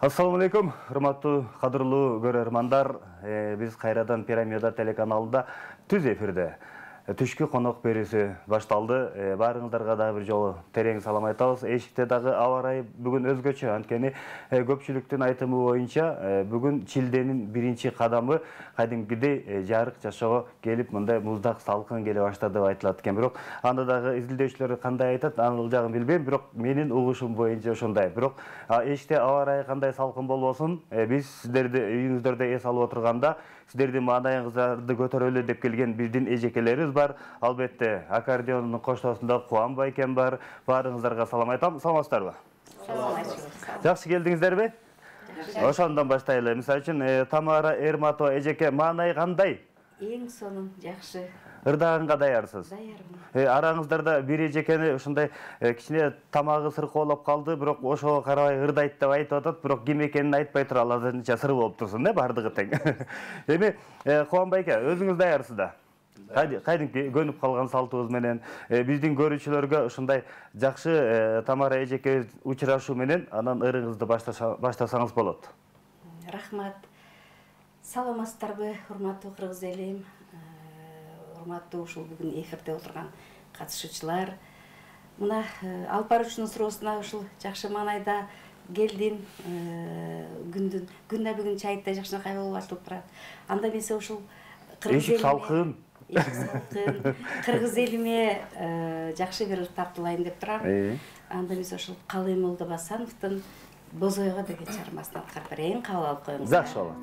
Assalamu alaikum, урматтуу, кадырлуу көрөрмандар. Биз кайрадан Пирамида телеканалында түз эфирде. Түшкү конок берүүсү башталды. Баарыңыздарга дагы бир жолу терең салам айтабыз. Эшикте дагы аба ырайы бүгүн өзгөчө. Анткени көпчүлүктүн айтымы боюнча бүгүн шилденин биринчи кадамы кадимкидей жарык жашоого келип, мындай муздак салкын келе баштады деп айтылат экен. Бирок анда дагы изилдөөчүлөр кандай айтат, анын жагын билбейм. Бирок менин угушум боюнча ошондой. Бирок эшикте аба ырайы кандай салкын болбосун, биз сиздерди үйүңүздөрдө эс алып отурганда, сиздердин маанайыңыздарды көтөрөлү деп келген биздин эжекелерибиз бар. Албетте, аккордеондун коштоосунда Кубан байкем бар. Баарыңыздарга салам айтам. Саламатсыздарбы? Жакшы келдиңиздерби? Ошондон баштайлы. Мисалы үчүн Тамара Эрматова эжеке, маанай кандай? Эң сонун, жакшы. Ырдааганга даярсыз? Даярмын. Араңыздарда бир эжекени ушундай кичине тамагы сыркоолоп калды, бирок ошого карабай ырдайт деп айтып атат, бирок ким экенин айтпай туруп азырынча сыр болуп турсун, бардыгы тең. Эми Кубан байке, өзүңүз даярсыз да? Кайдыңки көнүп калган салтыбыз менен биздин көрүүчүлөргө ушундай жакшы Тамара эжекебиз учурашуу менен анан ырыңызды баштасаңыз болот. Рахмат. Саламатсыздарбы, урматтуу кыргыз элим, урматтуу ушул бүгүн эфирде отурган катышуучулар. Мына алып баруучунун суроосуна ушул жакшы маанайда келдим. Күндө бүгүн чайытта жакшынакай болуп атылып турат. Анда эмесе ушул эшик салкын. Кыргыз элиме жакшы бир тартуулайын деп турам. Анда эмесе ушул Калыймолдо Басановдун Бозойго деген чыгармасын аткарып берейин, кабыл алып коюңуз. Жакшы болот.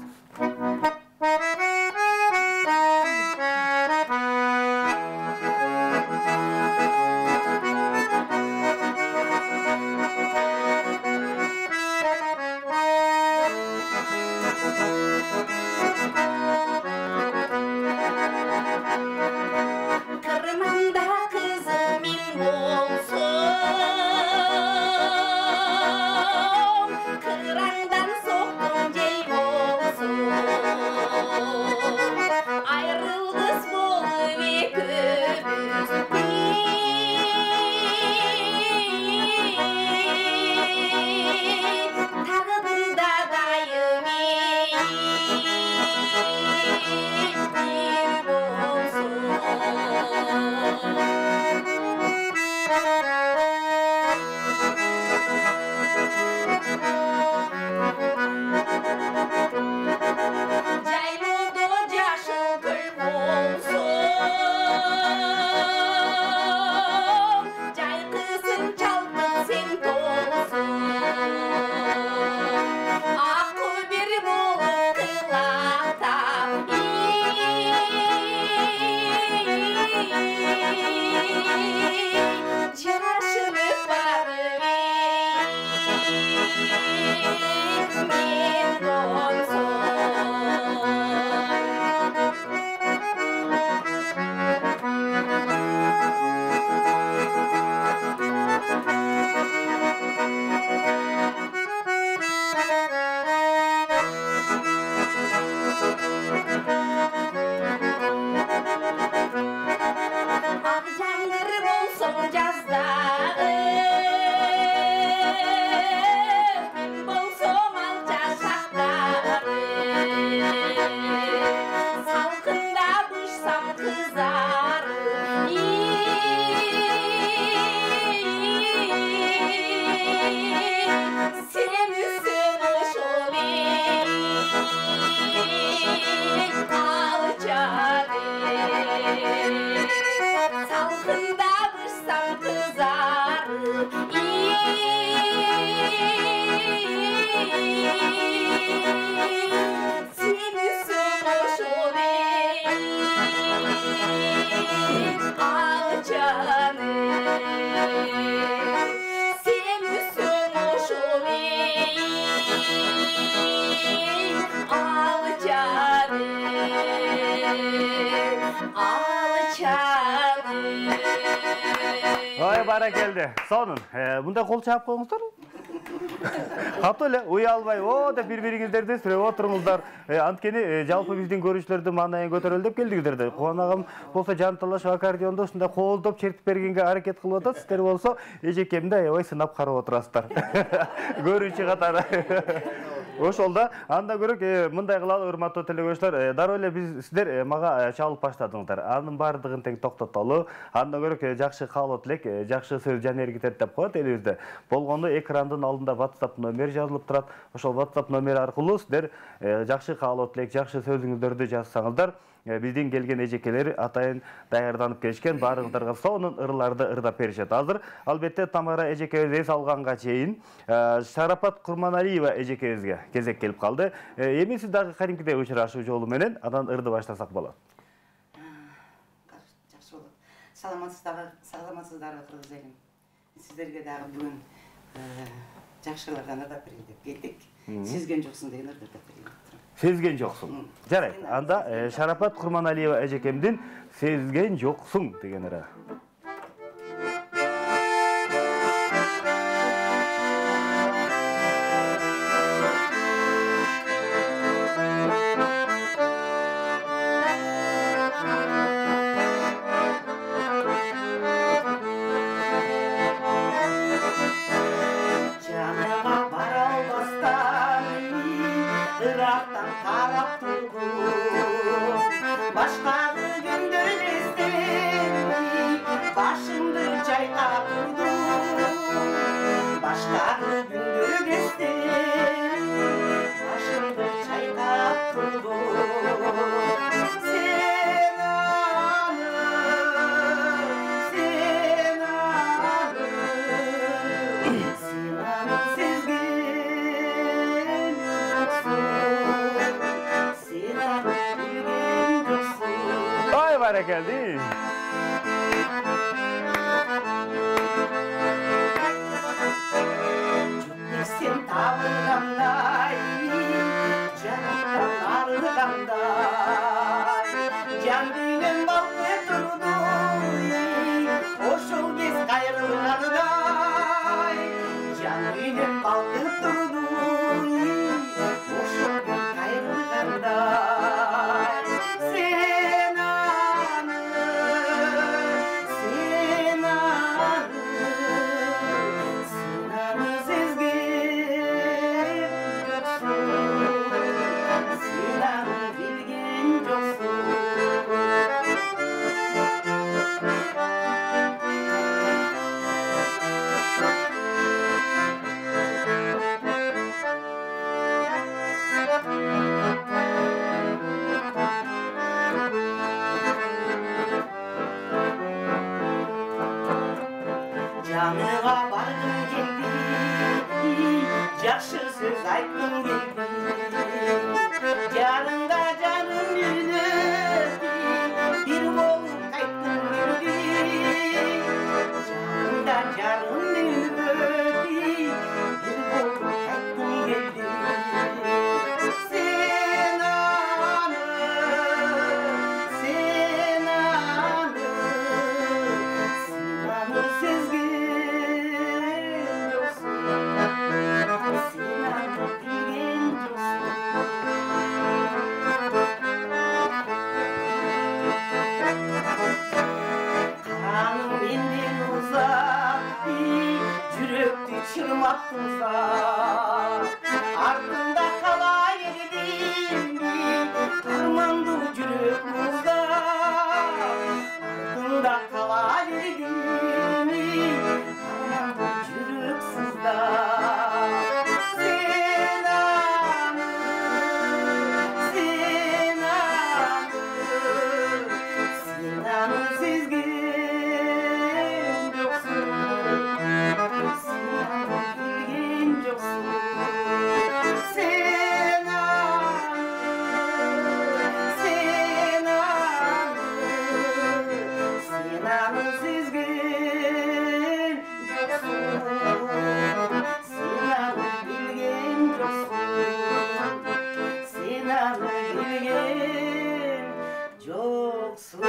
Ой, баракелди. Сонун. Мындай кол чаап коюңуздар. Катуу эле уялбай, деп бири-бириңиздерди сүрөп отуруңуздар. Анткени жалпы биздин көрүүчүлөрдүн маанайын көтөрөлү деп келдиңиздер да. Кубан агам болсо жанталашып аккордеондо ушундай колдоп чертип бергенге аракет кылып атат. Сиздер болсо эжекемди аябай сынап карап отурасыздар. Көрүүчү катары. Ошол да анда көрөк мындай кылалы урматтуу телекөрүүчүлөр, дароо эле сиздер мага чалып баштадыңыздар. Анын баардыгын тең токтотолу. Анда көрөк жакшы каалоо тилек, жакшы сөз жан эргитет деп коет элибизде. Болгондо экрандын алдында WhatsApp номер жазылып турат. Ошол WhatsApp номер аркылуу сиздер жакшы каалоо тилек, жакшы сөзүңүздөрдү жазсаңыздар, биздин келген эжекелер атайын даярданып келишкен, баарыңыздарга сонун ырларды ырдап беришет. Азыр албетте Тамара эжекебиз эс алганга чейин Шарапат Курманалиева эжекебизге кезек келип калды. Эми сиз дагы кадимкидей учурашуу жолу менен анан ырды баштасак болот. Жакшы болот. Саламатсыздарбы кыргыз элим. Сиздерге дагы бүгүн жакшылардан ырдап берейин деп келдик. Сезген жоксуң деген ырдап берейин. Сезген жоксуң. Жарайт. Анда Шарапат Курманалиева эжекемдин Сезген жоксуң деген ыры. Geldi. Sen tavırlanday, canımdan arıganday, can dilim balı durdu, oşul biz kayrılganday, can dilim balı durdu, oşul biz kayrılganday. Janıga bargım geldi, jakşı söz aytgım geldi. Janыңда жаным үйнөдү, бир болуп кайткым келди. Жаныңда жарым үйнөдү, бир болуп кайткым келди. Sen anı sezgen joksun. Sen anı bilgen joksun. Kanım menden uzak, жүрөктү чырматтың сак. Артында кала бердим, армандуу жүрөк муздап. Артында кала бердим, армандуу жүрөк сыздап. Sen anı sezgen joksun. Sen anı bilgen joksun. Sen anı sezgen joksun. Sen anı bilgen joksun. Sen anı bilgen joksun.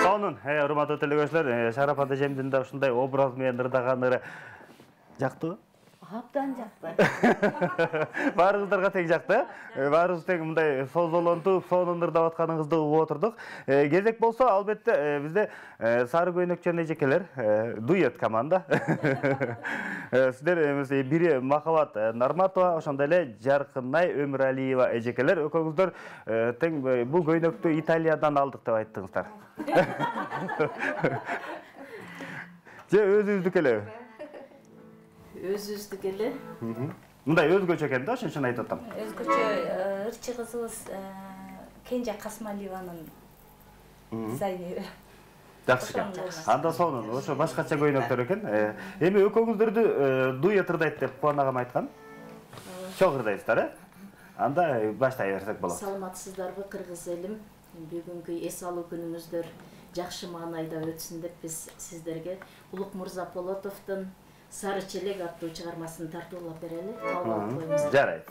Сонун, урматтуу телекөрүүчүлөр, Шарапат эжемдин да ушундай образ менен ырдаган ыры жактыбы? Абдан жакты. Баарыңыздарга тең жакты. Баарыбыз тең мындай созолонтуп, сонун ырдап атканыңызды угуп отурдук. Кезек болсо, албетте бизде Сары көйнөк жана эжекелер дуэт команда. Сиздер бири Махабат Нарматова, ошондой эле Жаркынай Өмүралиева эжекелер. Экөөңүздөр тең бул көйнөктү Италиядан алдык деп айттыңыздар. Же өзүңүздүкү элеби? Өзүбүздүкү эле. Мындай өзгөчө экен да, ошон үчүн айтып атам. Өзгөчө ырчы кызыбыз Кенже Касмалиеванын дизайнери. Жакшы экен. Анда сонун, ошо башкача көйнөктөр экен. Эми экөөңүздөрдү дуэт ырдайт деп Кубан агам айткан. Чоң ырдайсыздар, Анда баштай берсек болот. Саламатсыздарбы, кыргыз элим? Бүгүнкү эс алуу күнүңүздөр жакшы маанайда өтсүн деп биз сиздерге Улукмурза Полотовдун Сары челек аттуу чыгармасын тартуулап берели. Кабыл алып коюңуз. Жарайт.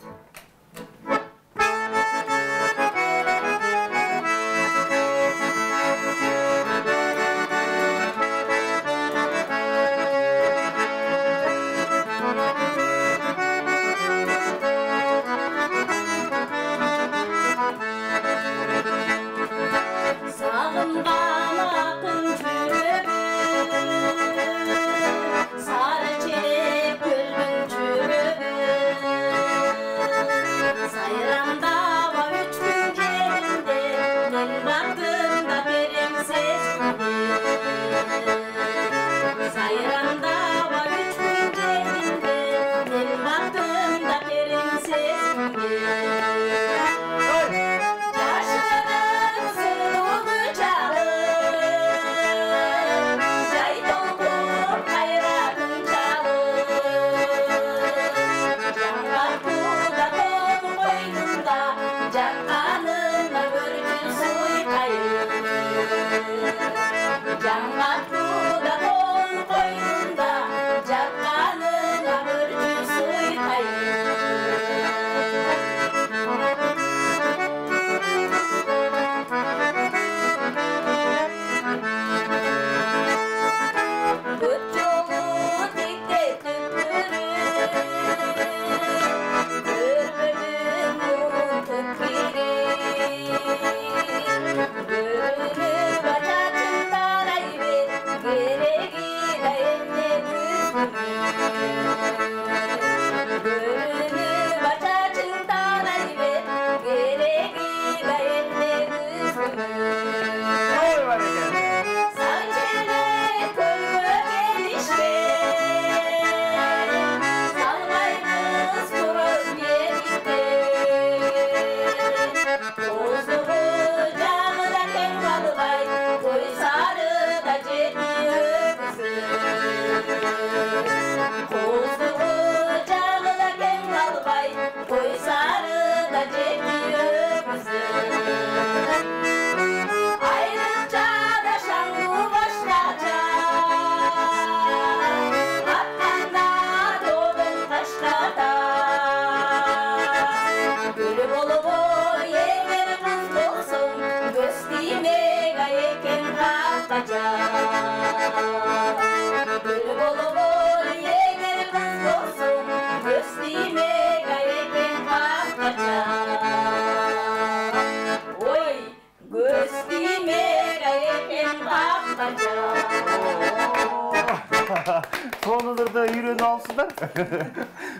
Сонуңузду үйрөнүп алыпсыздар.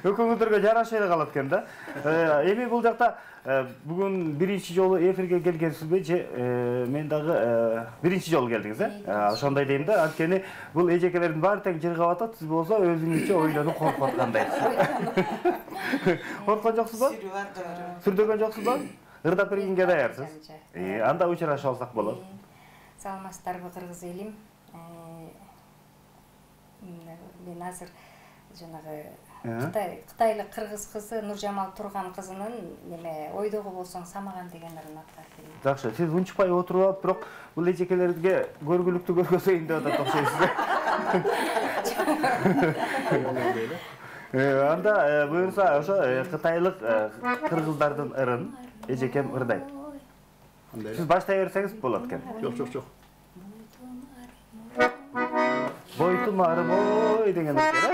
Экөөңүздөргө жараша эле калат экен да. Эми бул жакта бүгүн биринчи жолу эфирге келгенсизби же мен дагы биринчи жолу келдиңиз, ошондой дейм да. Анткени бул эжекелердин баары тең жыргап атат, сиз болсо өзүңүзчө ойлонуп коркуп аткандайсыз. Корккон жоксузбу? Сүрдөгөн жоксузбу? Ырдап бергенге даярсыз. Анда учурашып алсак болот. Саламатсыздарбы, кыргыз элим? Мен азыр жанагы Кытайлык кыргыз кызы Нуржамал Турган кызынын неме ойдогу болсоң самаган деген ырын аткарып берейин. Жакшы, сиз унчукпай отуруп алып, бирок бул эжекелерге көргүлүктүү көргөзөйүн деп атат окшойсуз. Анда буюрса ошо кытайлык кыргыздардын ырын эжекем ырдайт. Сиз баштай берсеңиз болот экен. Жок. Бойтумарым ой деген экен.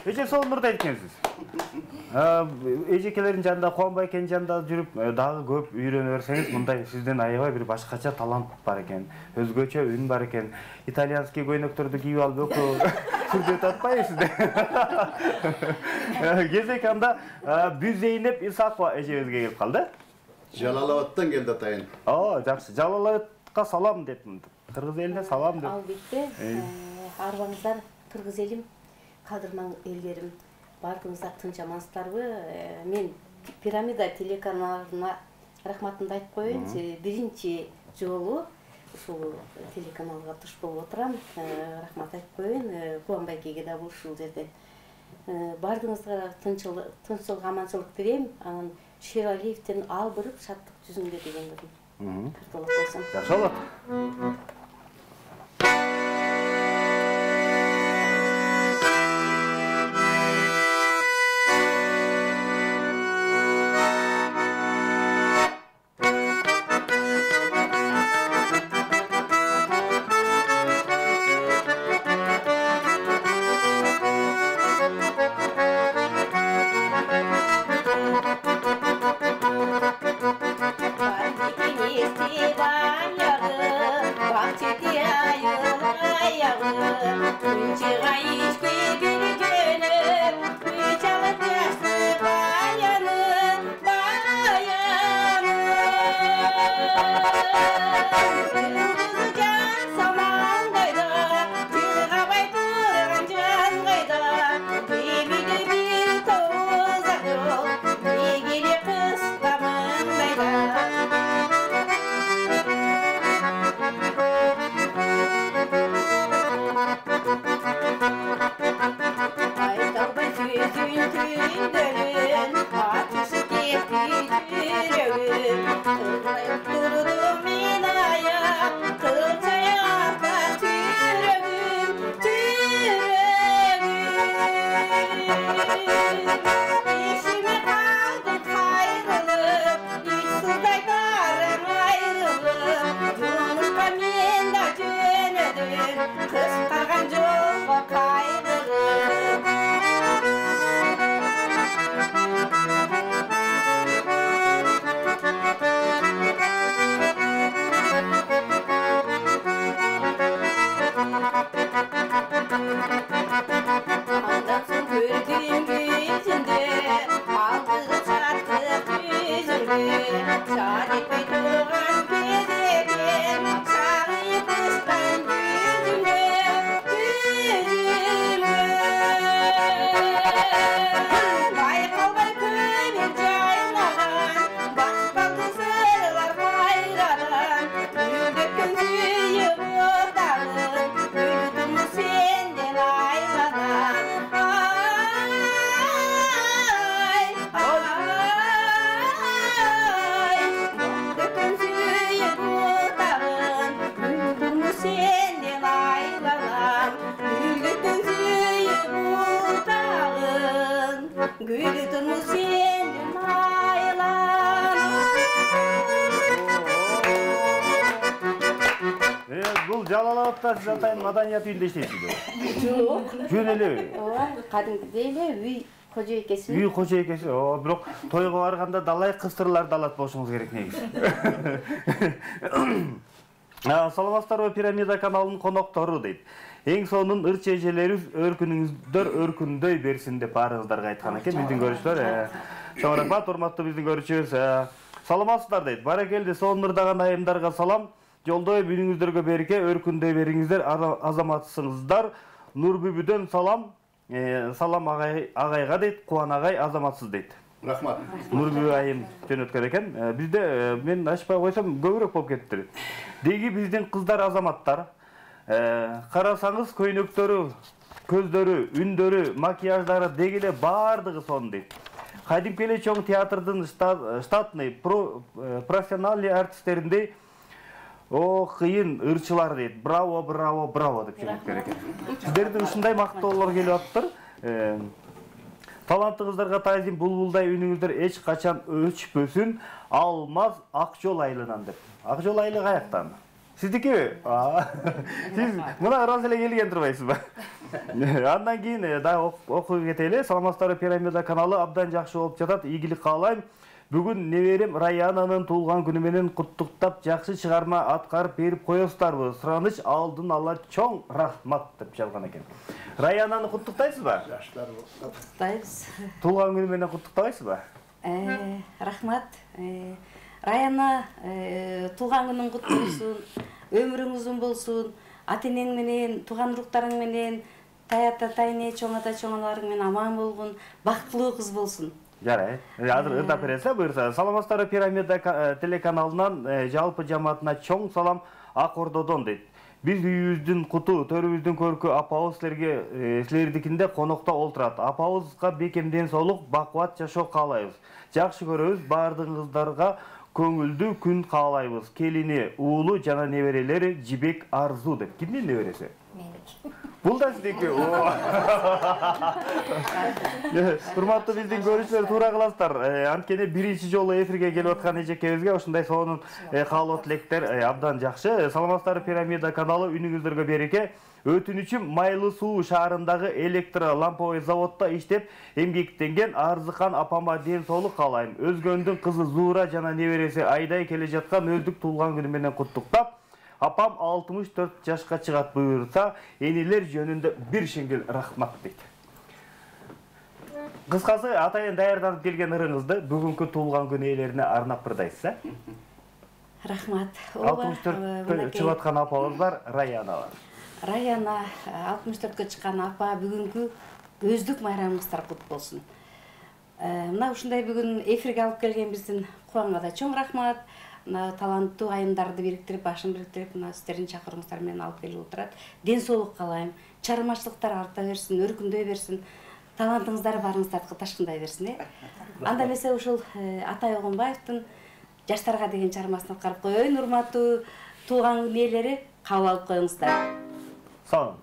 Эже сонурда экенсиз. Эжекелердин жанында, Кубанбай экенин жанында жүрүп, дагы көп үйрөнө берсеңиз, мындай сизден аябай бир башкача талант бар экен. Өзгөчө үн бар экен. Итальянский көйнөктөрдү кийип алып өкө сүрдөтүп атпайсызбы? Кезек анда Бүзейнеп Исакова эжебизге келип калды. Жалалабадтан келди атайын. Жакшы. Жалалабадка салам деп, кыргыз элине салам деп. Албетте, арбаңыздар кыргыз элим, кадырман элдерим, бардыгыңыздар тынч амансыздарбы? Мен Пирамида телеканалына рахматымды айтып коеюн. Биринчи жолу ушул телеканалга туш болуп отурам. Рахмат айтып коеюн. Кубанбайкеге да ушул жерден. Бардыгыңыздарга тынччылык, аманчылык тилейм. Анан Шералиевден албырып шаттык жүзүңдө деген элем. Карталап койсом. Жакшы болот. гүлдүн сенден айланып. Бул Жалал Абадта сиз атайын маданият үйүндө иштейсизби? Жок. Жөн эле. Ооба, кадимкидей эле үй кожоекеси. Үй кожоекеси. Бирок тойго барганда далай кыстырларды алат болушуңуз керек негизи. Саламатсыздарбы, Пирамида каналынын коноктору дейт. Эң сонун ырчы эжелерибиз өркүнүңүздөр өркүндөй берсин деп баарыңыздарга айткан экен биздин көрүүчүлөр. Чоң рахмат, урматтуу биздин көрүүчүбүз. Саламатсыздар дейт. Баракелде, сонурдаган айымдарга салам. Жолдой үнүңүздөргө береке, өркүндөй бериңиздер, азаматсыңыздар. Нурбүбүдөн салам. Салам агайга дейт, Кубан агай азаматсыз дейт. Рахмат. Нурбүбү айым жөнөткөн экен. Бизде мен ачпай койсом көбүрөөк болуп кетиптир. Деги биздин кыздар азаматтар. Карасаңыз көйнөктөрү, көздөрү, үндөрү, макияждары деги эле баардыгы сонун дейт. Кадимки эле чоң театрдын штатный профессиональный артисттериндей кыйын ырчылар дейт. Браво, браво, браво деп жөнөткөн экен. Сиздердин ушундай мактоолор келип атыптыр. Талантыңыздарга таазим, булбулдай үнүңүздөр эч качан өчпөсүн. Алмаз Акжол айылынан деп. Акжол айылы каяктан? Сиздикиби? Сиз мына ырас эле келген турбайсызбы? Андан кийин дагы окуп кетели. Саламатсыздарбы, Пирамида каналы абдан жакшы болуп жатат. Ийгилик каалайм. Бүгүн неберем Раянанын туулган күнү менен куттуктап, жакшы чыгарма аткарып берип коесуздарбы? Сураныч алдын ала чоң рахмат деп жазган экен. Раянаны куттуктайсызбы? Куттуктайбыз. Туулган күнү менен куттуктабайсызбы? Рахмат. Раяна, туулган күнүң кутту болсун, өмүрүң узун болсун, ата-энең менен, тууган уруктарың менен, тайата тайне, чоң ата чоң аналарың менен аман болгун, бактылуу кыз болсун. Жарайт. Азыр ырдап бересиз, буюрса. Саламатсыздарбы, Пирамида телеканалынан жалпы жамаатына чоң салам Ак Ордодон дейт. Биз үйүбүздүн куту, төрүбүздүн көркү апабыз силердикинде конокто олтурат. Апабызга бекемден соолук, бакубат жашоо каалайбыз. Жакшы көрөбүз, баардыгыңыздарга көңүлдүү күн каалайбыз. Келини, уулу жана неберелери Жибек Арзу деп. Кимдин небереси? Меники. Бул да сиздики. Урматтуу биздин көрүүчүлөр, туура кыласыздар. Анткени биринчи жолу эфирге келип аткан эжекебизге ушундай сонун каалоо тилектер абдан жакшы. Саламатсыздарбы, Пирамида каналы, үнүңүздөргө береке. Өтүнүчүм Майлы Суу шаарындагы электро ламповый заводдо иштеп эмгектенген Арзыхан апама ден соолук каалайм. Өзгөндүн кызы Зуура жана небереси Айдай келе жаткан өздүк туулган күнү менен куттуктап, апам 64 жашка чыгат буюрса, энелер жөнүндө бир шеңгел рахмат дейт. Кыскасы, атайын даярданып келген ырыңызды бүгүнкү туулган күн ээлерине арнап бырдайсыз, Рахмат. 64 чыгып аткан апабыз бар, Раяна бар. Раяна 64-кө чыккан апа бүгүнкү өздүк майрамыңыздар кут болсун. Мына ушундай бүгүн эфирге алып келген биздин Кубанга да чоң рахмат. Мына таланттуу айымдарды бириктирип, башын бириктирип, мына сиздердин чакыруңуздар менен алып келип отурат. Ден соолук каалайм. Чармачылыктар арта берсин, өркүндөй берсин. Талантыңыздар барыңыздарды ташкындай берсин, Анда эмесе ушул Атай Огонбаевдин жаштарга деген чармасын аткарып коеюн. Урматтуу туулган күн ээлери, кабыл алып коюңуздар. Sağ olun.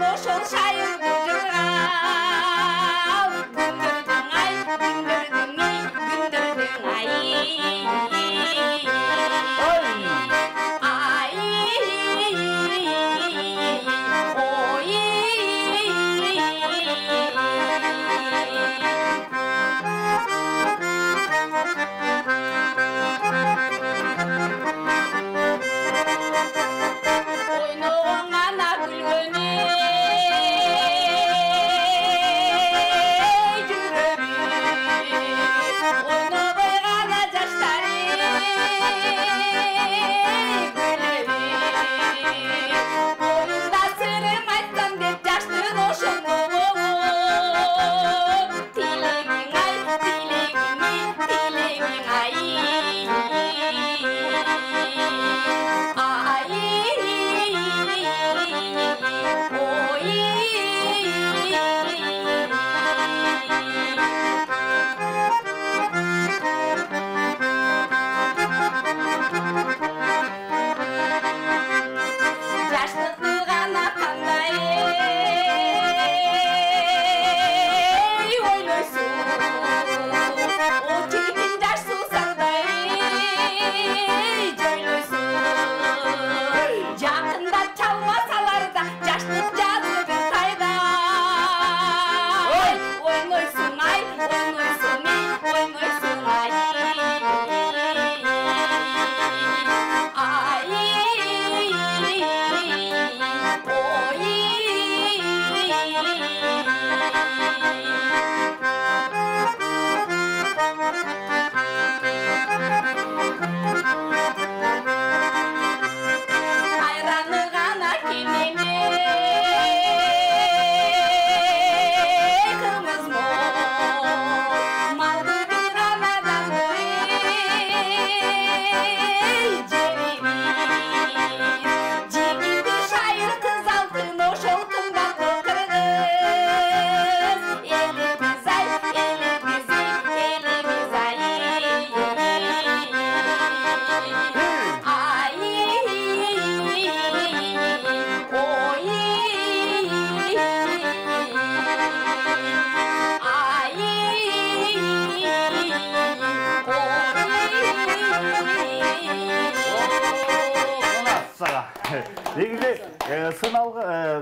Ошол шайыр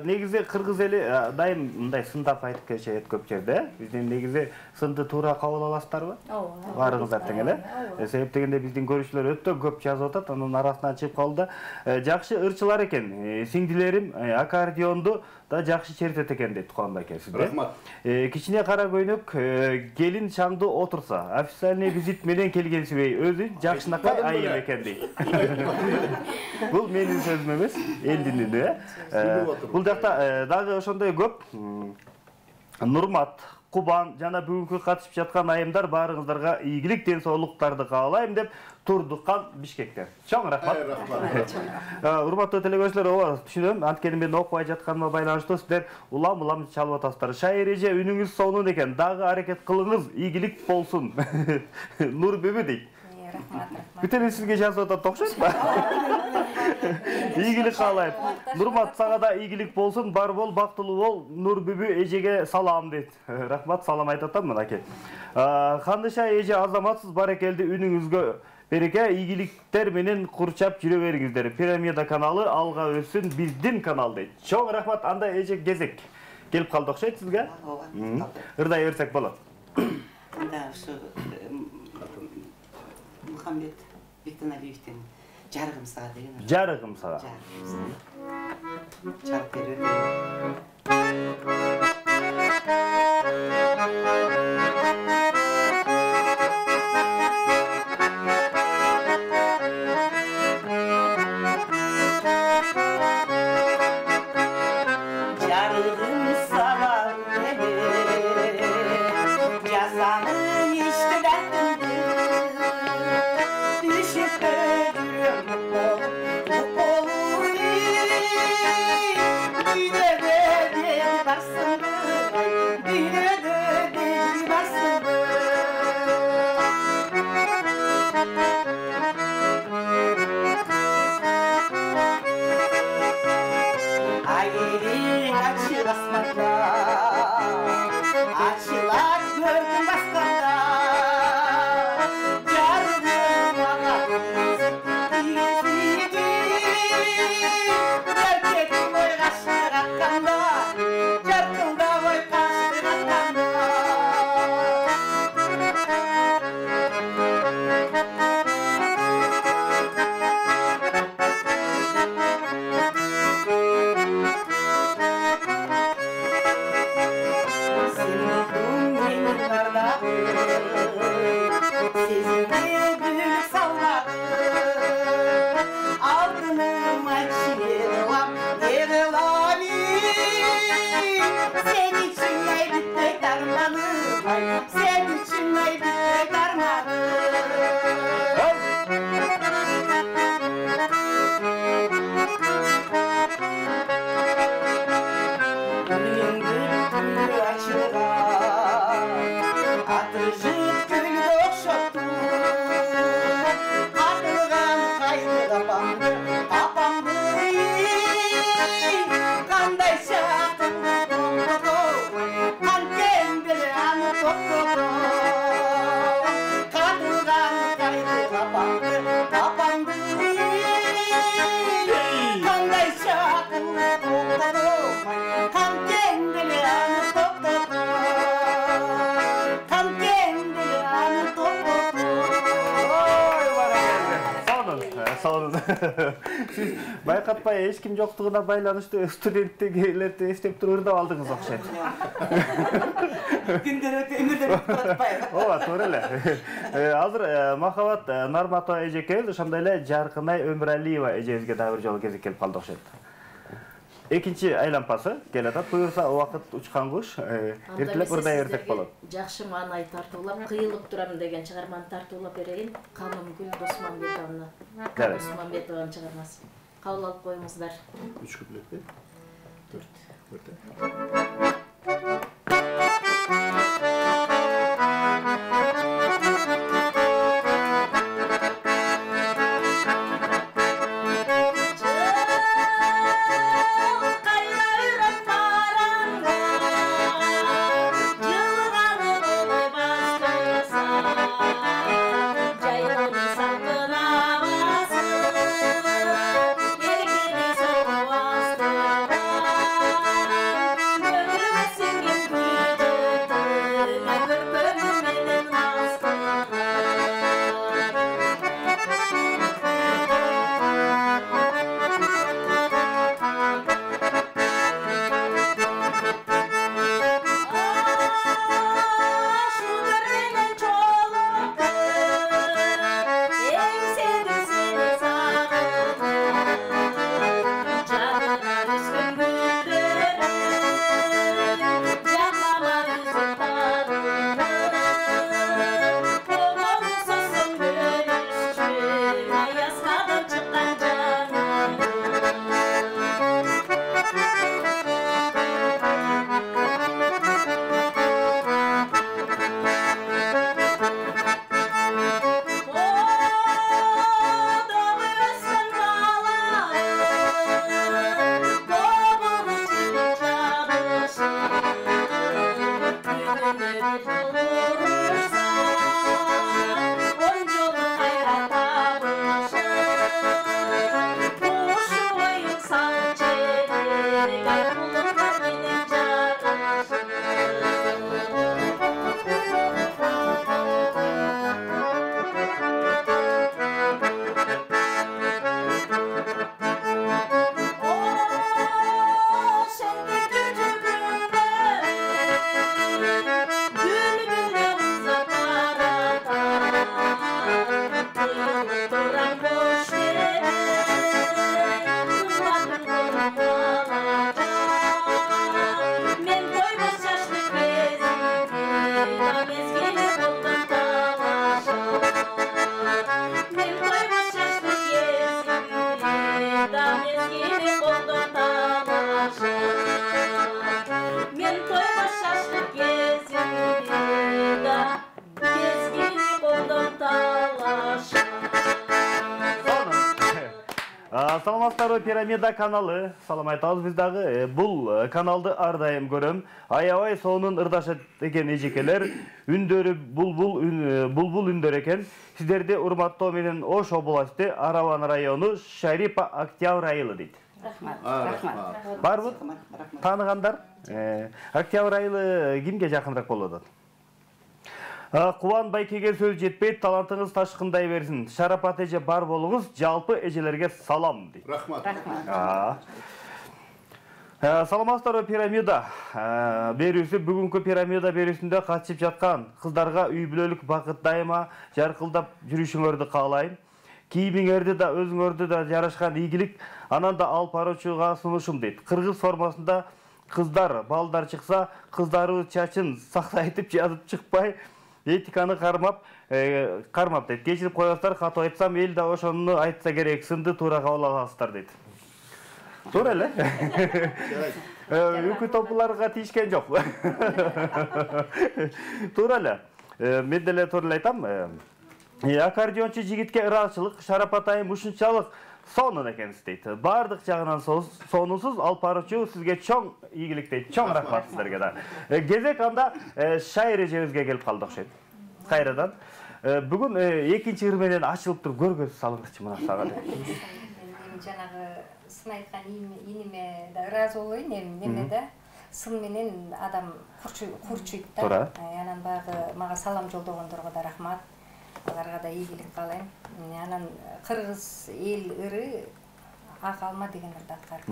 негизи кыргыз эли дайым мындай сындап айтып келишет көп жерде. Биздин негизи сынды туура кабыл аласыздарбы? Ооба. Баарыңыздар тең эле. Себеп дегенде биздин көрүүчүлөр өтө көп жазып атат, анын арасынан чыгып калды. Жакшы ырчылар экен. Сиңдилерим аккордеонду да жакшы чертет экен дейт Кубанбай аке сизде. Рахмат. Кичине кара көйнөк келин шаңды отурса, официальный визит менен келгенсибей, өзү жакшынакай айым экен дейт. Бул менин сөзүм эмес, элдин үнү. Бул жакта дагы ошондой көп Нурмат, Кубан жана бүгүнкү катышып жаткан айымдар баарыңыздарга ийгилик, ден соолуктарды каалайм деп Турдуккан Бишкектен. Чоң рахмат. Урматтуу телекөрүүчүлөр, ооба түшүнөм. Анткени мен окубай жатканыма байланыштуу сиздер улам чалып атасыздар. Шайыр эже үнүңүз сонун экен. Дагы аракет кылыңыз, ийгилик болсун. Нур бүбү дейт. Рахмат. Бүт эле сизге жазып атат окшойт ба? Ийгилик каалайм. Нурмат, сага да ийгилик болсун, бар бол, бактылуу бол. Нур бүбү эжеге салам дейт. Рахмат, салам айтып атам аке. Кандыша эже азаматсыз баракелди, үнүңүзгө береке, ийгиликтер менен курчап жүрө бериңиздер. Пирамида каналы алга өссүн, биздин канал дейт. Чоң рахмат. Анда эже кезек келип калды окшойт сизге. Ооба. Ырдай берсек болот. Анда ушу Мухаммед Бектеналиевдин жарыгым сага деген. Жарыгым сага. Чарып берип. Siz байкатпай эч ким жоктугуна байланыштуу студенттикилерди эстеп туруп ырдап алдыңыз окшойт. Күндөр өтө өмүрдөр өтүп атпайбы? Ооба, туура эле. Азыр Махабат Нарматова эжекебиз, ошондой эле Жаркынай Өмүралиева эжебизге дагы бир жолу кезек келип калды окшойт. Экинчи айлампасы келатат. Буюрса убакыт учкан куш. Эртелеп ырдай берсек болот. Жакшы маанай тартуулап, кыйылып турам деген чыгарманы тартуулап берейин. Калымгүл Досманбетовна. Досманбетованын чыгармасы. Кабыл алып коюңуздар. 3 куплетпи? 4. Саламатсыздарбы, Пирамида каналы. Салам айтабыз биз дагы. Бул каналды ар дайым көрөм. Аябай сонун ырдашат экен эжекелер. Үндөрү булбул үндөр экен. Сиздерди урматтоо менен Ош областы Араван району Шарипа Октябрь айылы дейт. Рахмат. Барбы? Тааныгандар? Октябрь айылы кимге жакыныраак болот атат? Кубан Байкеге сөз жетпейт, талантыңыз ташкындай берсин. Шарапат эже бар болуңуз, жалпы эжелерге салам дейт. Рахмат. Саламатсыздарбы, Пирамида берүүсү бүгүнкү Пирамида берүүсүндө катышып жаткан кыздарга үй бүлөлүк бакыт дайыма жаркылдап жүрүшүңөрдү каалайм. Кийимиңерди да өзүңөрдү да жарашкан ийгилик анан да алып баруучуга сунушум дейт. Кыргыз формасында кыздар, балдар чыкса, кыздарыбыз чачын сактайтып жазып чыкпай, этиканы кармап дейт. Кечирип коесуздар, катуу айтсам, эл да ошону айтса керек, сынды туура кабыл аласыздар дейт. Туура эле. Үкү топуларга тийишкен жок. Туура эле. Мен деле туура эле айтам. Аккордеончу жигитке ыраазычылык, Шарапат айым ушунчалык сонун экенсиз дейт. Бардык жагынан сонунсуз, алып баруучу сизге чоң ийгилик дейт. Чоң рахмат сиздерге да. Кезек анда Шайыр эжебизге келип калды окшойт. Кайрадан. Бүгүн экинчи ыр менен ачылып туруп көргөз салыңызчы мына сага. Мен жанагы сын айткан иниме да ыраазы болоюн, эми да сын менен адам курчуйт да. Туура. Анан баягы мага салам жолдогондорго да рахмат. Аларга да ийгилик каалайм. Анан кыргыз эл ыры ак алма деген ырды аткарып.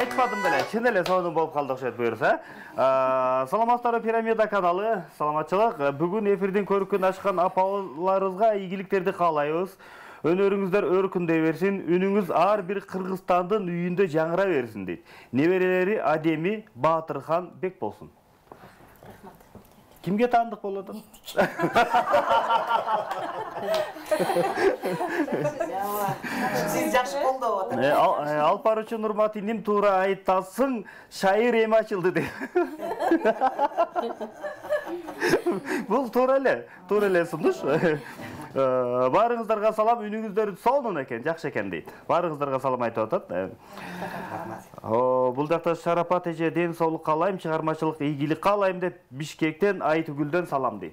Айтпадым беле, чын эле сонун болуп калды окшойт буюрса. Саламатсыздарбы, Пирамида каналы, саламатчылык. Бүгүн эфирдин көркүн ачкан апаларыбызга ийгиликтерди каалайбыз. Өнөрүңүздөр өркүндөй берсин, үнүңүз ар бир Кыргызстандын үйүндө жаңыра берсин дейт. Неберелери Адеми Баатырхан Бек болсун. Кимге таандык болот? Сиз жакшы колдоп атат. Алып баруучу Нурмат иним туура айтасың, Шайыр эми ачылды дейт. Бул туура эле сунуш. Баарыңыздарга салам, үнүңүздөр сонун экен, жакшы экен дейт. Баарыңыздарга салам айтып атат. Бул жакта Шарапат эже ден соолук каалайм, чыгармачылык ийгилик каалайм деп Бишкектен Айтүгүлдөн салам дейт.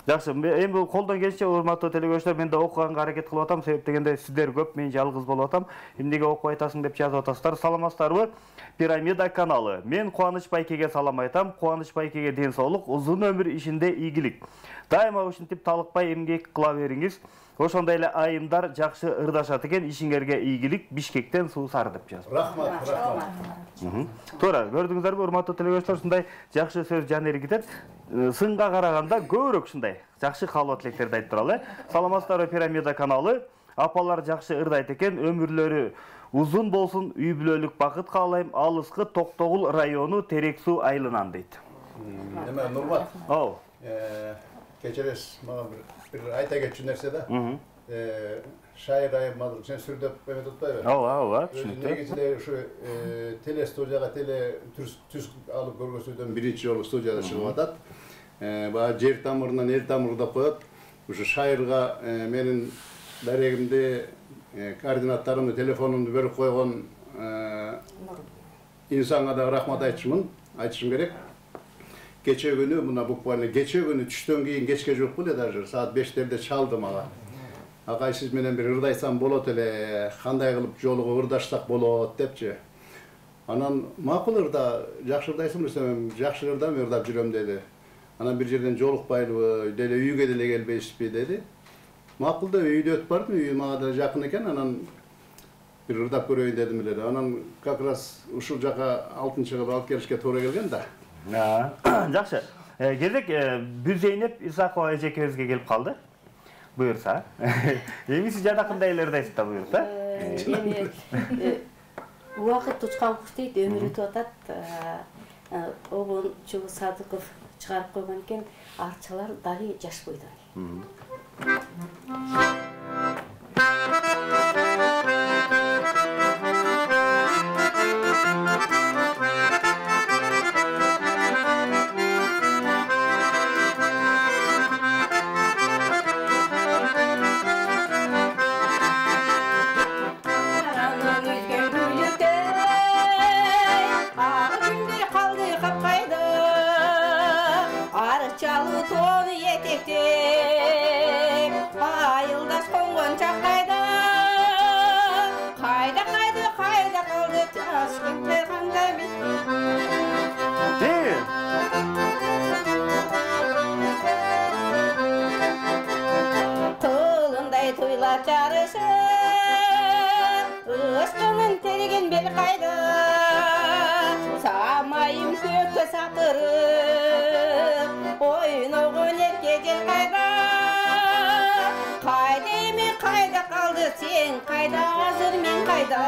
Жакшы, эми бул колдон келишинче урматтуу телекөрүүчүлөр, мен да окуганга аракет кылып атам, себеп дегенде сиздер көп, мен жалгыз болуп атам. Эмнеге окуп айтасың деп жазып атасыздар. Саламатсыздарбы? Пирамида каналы. Мен Кубаныч Байкеге салам айтам. Кубаныч Байкеге ден соолук, узун өмүр ишинде ийгилик. Дайыма ушинтип талыкпай эмгек кыла бериңиz. Ошондой эле айымдар жакшы ырдашат экен, ишиңерге ийгилик. Бишкектен Суусар деп жазып. Рахмат, рахмат. Туура, көрдүңүздөрбү, урматтуу телекөрүүчүлөр, ушундай жакшы сөз жан эргитет. Сынга караганда көбүрөөк ушундай жакшы каалоо тилектерди айтып туралы. Саламатсыздарбы, Пирамида каналы. Апалар жакшы ырдайт экен, өмүрлөрү узун болсун, үй бүлөлүк бакыт каалайм. Алыскы Токтогул району Терек суу айылынан дейт. Эме Нурмат. Оо. Кечерес, мага бир айта кетчү нерсе да. Шайыр айымдык сен сүрдөп эме тутпайбы? Ооба, түшүнүктүү. Негизинде ушу телестудияга түз алып көргөзүүдөн биринчи жолу студияда чыгып атат. Баа жер тамырынан эл тамыры деп коет. Ушу шайырга менин дарегимди, координаттарымды, телефонумду берип койгон инсанга да рахмат айтышым керек. Кече күнү, мына буквально кече күнү түштөн кийин кечке жок беле, даже саат 5-терде чалды мага. Агай, сиз менен бир ырдайсам болот эле, кандай кылып жолугуп ырдашсак болот депчи. Анан макул ырда, жакшы ырдайсың десем, жакшы ырдап жүрөм деди. Анан бир жерден жолукпайлыбы, деле үйгө деле келбейсизби деди. Макул да үйдө өтүп бардым, үй мага да жакын экен, анан бир ырдап көрөйүн дедим эле. Анан как раз ушул жака 6-кылып алып келишке туура келген да. Жакшы. Келдик, Бүзейнеп Исакова эжекебизге келип калды. Буюрса. Эми сиз жадакында эле ырдайсыз да, буюрса. Эми убакыт учкан куш дейт, өмүр өтүп атат. Обончу Садыков чыгарып койгон экен, арчалар дали жаш бойдон. Östünün teregen bel kaydı, samayım kökü satırıp, oyunuğun erkecel kayda. Kayda mi kayda kaldı sen, kayda hazır men kayda.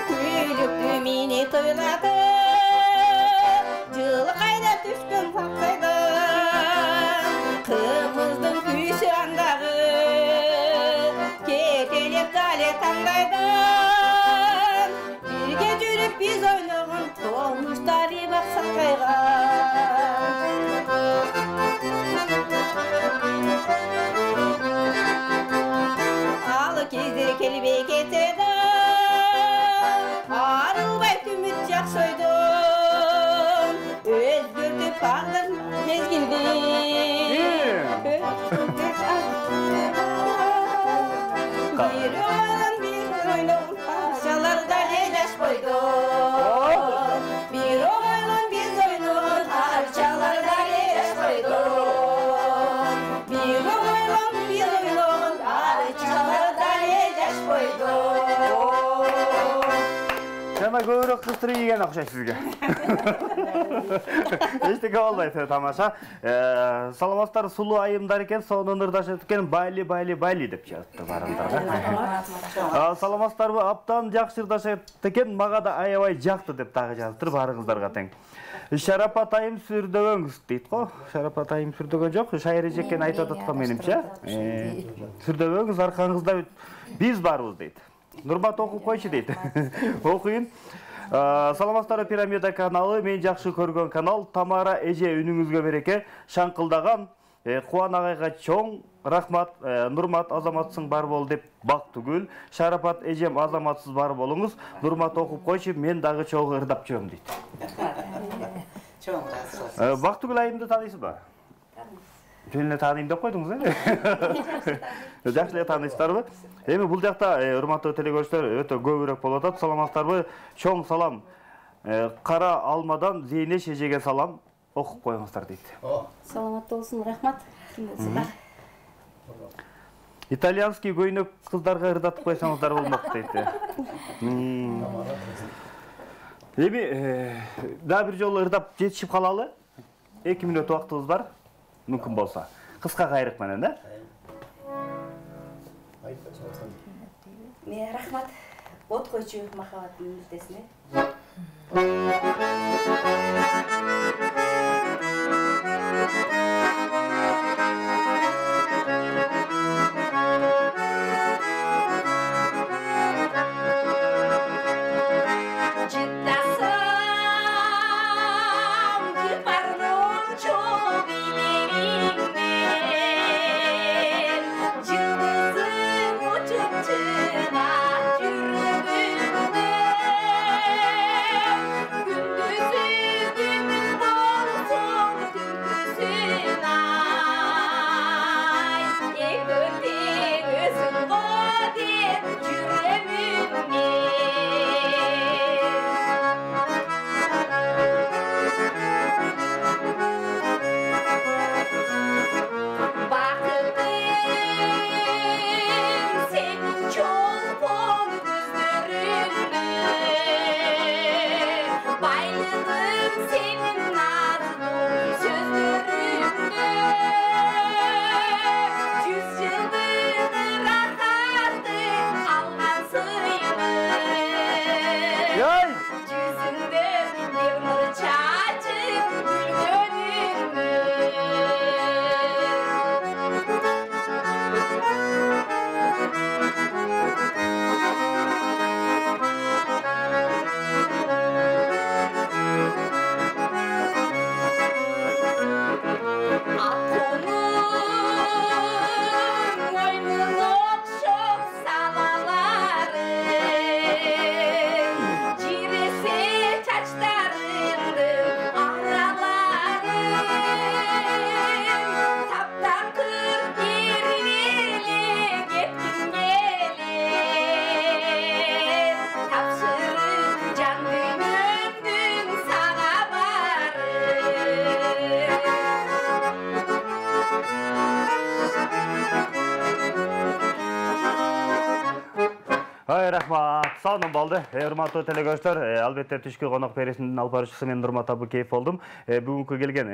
Küylüktü mini toyladı, jılı kayda düşkün paksaydı. Kımızdın küysü andağı, ketelep dale tangaydı. Birge жүрүп biz oynuğun tolmuştari baksak kayga. Alı kezder kelbey ketedi, arılbay tümüt jaksoydun, özgürtüp bağdır mezgildi. Bir oğlan bir oynuğun parçalarda lejaş koydun. Bir oğlan bir oynuğun parçalarda lejaş koydun. Bir oğlan bir oynuğun parçalarda lejaş koydun. Жана көбүрөөк кыстыруу ийген окшойт сизге. Эчтеке болбойт, тамаша. Саламатсыздар, сулуу айымдар экен, сонун ырдашат экен, байли деп жазыпты барыңыздарга. Саламатсыздарбы, аптан жакшы ырдашат экен, мага да аябай жакты деп дагы жазыптыр барыңыздарга тең. Шарапат айым сүрдөгөңүз дейт го. Шарапат айым сүрдөгөн жок, шайыр эжекен айтып атат го менимче. Сүрдөгөңүз, аркаңызда биз барбыз дейт. Нурмат окуп койчу дейт. Окуйын. Саламатсыздар, Пирамида каналы, мен жакшы көргөн канал. Тамара эже үнүңүзгө береке. Шаңкылдаган Кубан агайга чоң рахмат. Нурмат азаматсың бар бол деп Бактыгүл. Шарапат эжем азаматсыз бар болуңуз. Нурмат окуп койчу, мен дагы чогуу ырдап жүрөм дейт. Чоң жақсы. Бактыгүл айымды таанысызбы? Жөн эле тааныйм деп койдуңуз, Жакшы эле тааныйсыздарбы? Эми бул жакта урматтуу телекөрүүчүлөр өтө көбүрөөк болуп атат. Саламатсыздарбы? Чоң салам. Кара алмадан Зейнеш эжеге салам. Окуп коюңуздар дейт. Саламат болсун, рахмат. Ким болсун да. Итальянский көйнөк кыздарга ырдатып койсоңуздар болмок дейт. Эми дагы бир жолу ырдап жетишип калалы. 2 мүнөт убактыбыз бар. Мүмкүн болса. Кыска кайрык менен, да? Рахмат. От койчу махабаттын мүртесине. Рахмат. Саунам болду. Урматтуу телекөрүүчүлөр, албетте түшкү конок берүүсүнүн алып баруучусу мен Нурмат Абыкеев болдум. Бүгүнкү келген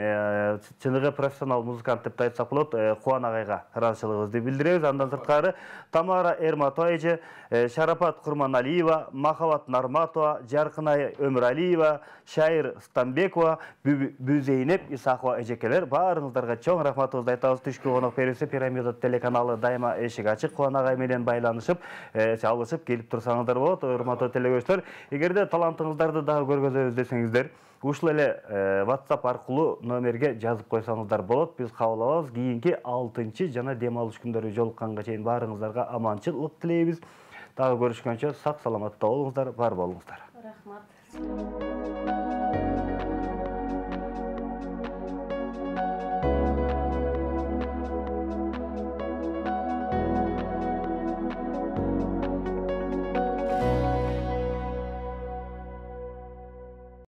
чыныгы профессионал музыкант деп айтсак болот, Кубан агайга ыраазычылыгыбызды билдиребиз. Андан сырткары Тамара Эрматова эже, Шарапат Курманалиева, Махабат Нарматова, Жаркынай Өмүралиева, Шайыр Станбекова, Бүзейнеп Исакова эжекелер баарыңыздарга чоң рахматыбызды айтабыз. Түшкү конок берүүсү Пирамида телеканалы дайыма эшик ачык. Кубан агай менен байланышып, чалышып келип турсаңыздар болот. Урматтуу телекөрүүчүлөр, эгерде талантыңыздарды дагы көргөзөбүз десеңиздер, ушул эле WhatsApp аркылуу номерге жазып койсоңуздар болот. Биз кабыл алабыз. Кийинки 6-чы жана дем алыш күндөрү жолукканга чейин баарыңыздарга аманчылык тилейбиз. Дагы көрүшкөнчө сак саламатта болуңуздар, бар болуңуздар. Рахмат.